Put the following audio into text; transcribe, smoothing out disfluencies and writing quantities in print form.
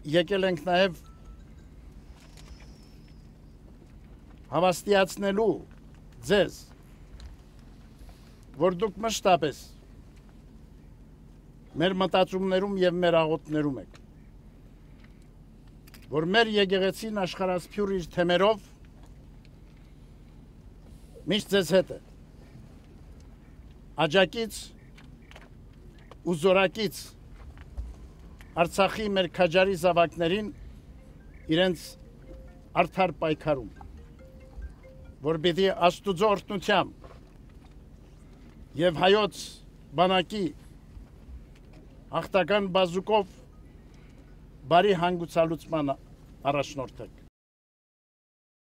եկել ենք նաև հավաստիացնելու ձեզ, որ դուք մշտապես մեր մտածումներում եւ մեր աղոթներում եք, որ մեր եկեղեցին աշխարհասփյուր իր թեմերով միշտ ձեզ հետ է, աջակից ու զորակից Արցախի մեր քաջարի զավակներին իրենց արդար պայքարում, որ պիտի Աստուծո օրհնությամբ եւ հայոց բանակի հաղթական բազուկով բարի հանգուցալուծման առաջնորդեք։